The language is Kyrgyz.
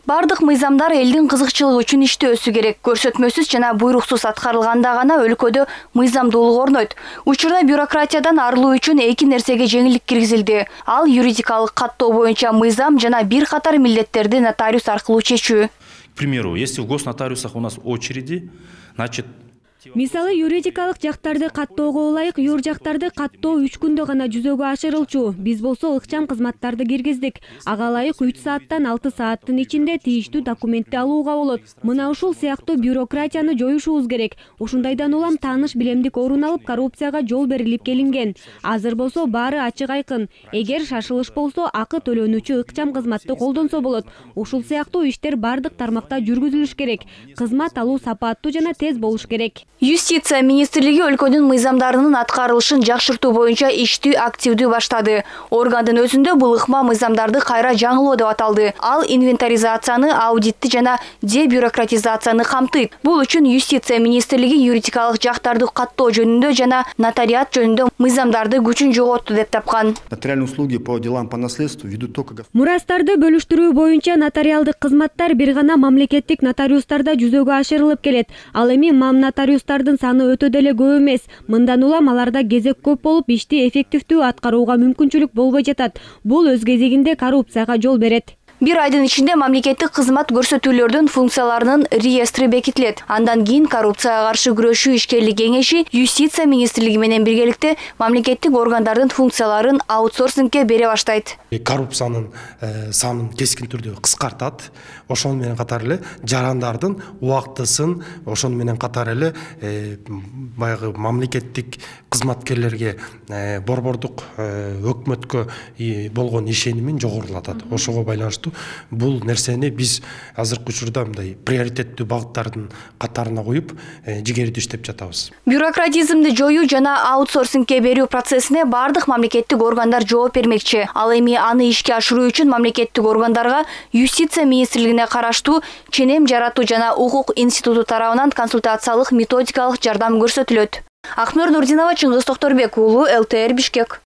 Бардык мыйзамдар элдин кызыкчылыгы үчүн иштөөсү керек. Көрсөтмөсүз жана буйруксуз аткарылганда гана өлкөдө мыйзамдуулук орнойт. Учурда бюрократиядан арылуу үчүн эки нерсеге жеңилдик киргизилди. Ал юридикалык каттоо боюнча мыйзам жана бир катар милдеттерди нотариус аркылуу чечүү. К примеру, если в госнотариусах у нас очереди, значит... Мисалы, юридикалык жактарды каттоого ылайык юр жактарды каттоо 3 күндө гана жүзөгө ашырылчу. Биз болсо ыкчам кызматтарды киргиздик. Ага ылайык 3 сааттан 6 сааттын ичинде тийиштүү документти алууга болот. Мына ушул сыяктуу бюрократияны жоюшубуз керек. Ушундайдан улам тааныш билемдик орун алып, коррупцияга жол берилип келинген. Азыр болсо баары ачык айкын. Эгер шашылыш болсо, акы төлөнүүчү ыкчам кызматты колдонсо болот. Ушул сыяктуу иштер бардык тармакта жүргүзүлүш керек. Кызмат алуу сапаттуу жана тез болуш керек. Юстиция министрлиги өлкөнүн мыйзамдарынын аткарылышын жакшыртуу боюнча иштүү активдүү баштады. Органдын өзүндө бул ыкма мыйзамдарды кайра жаңылоо деп аталды. Ал инвентаризацияны, аудитти жана дебюрократизацияны камтыйт. Бул үчүн Юстиция министрлиги юридикалык жактарды каттоо жөнүндө жана нотариат жөнүндө мыйзамдарды күчүн жоготту деп тапкан. Нотариальные услуги по делам по наследству ведут только... Мурастарды бөлүштүрүү боюнча нотариалдык кызматтар бир гана мамлекеттик нотариустарда жүзөгө ашырылып келет. Ал эми нотариустардын саны өтө деле көп эмес. Мындан улам аларда кезек көп болуп, ишти эффективдүү аткарууга мүмкүнчүлүк болбой жатат. Бул өз кезегинде коррупцияга жол берет. Бир айдын ичинде мамлекеттик кызмат көрсөтүүлөрдүн функцияларынын реестри бекитилет. Андан кийин коррупцияга каршы күрөшүү ишкерлик кеңеши Юстиция министрлиги менен биргеликте мамлекеттик органдардын функцияларын аутсорсингке бере баштайт. Коррупциянын санын кескин түрдө кыскартат. Ошону менен катар эле жарандардын убактысын, ошону менен катар эле баягы мамлекеттик кызматкерлерге борбордук өкмөткө болгон ишенимин жогорулатат. Ошого байланыштуу бул нерсени биз азыркы учурда мындай приоритеттүү багыттардын катарына коюп, жигердүү иштеп жатабыз. Бюрократизмди жоюу жана аутсорсингке берүү процессине бардык мамлекеттик органдар жооп бермекчи. Ал эми аны ишке ашыруу үчүн мамлекеттик органдарга Юстиция министрлигине караштуу ченем жаратуу жана укук институту тарабынан консультациялык методикалык жардам көрсөтүлөт. Акнур Нурдинова, Чыңгыз Токторбек уулу, ЛТР Бишкек.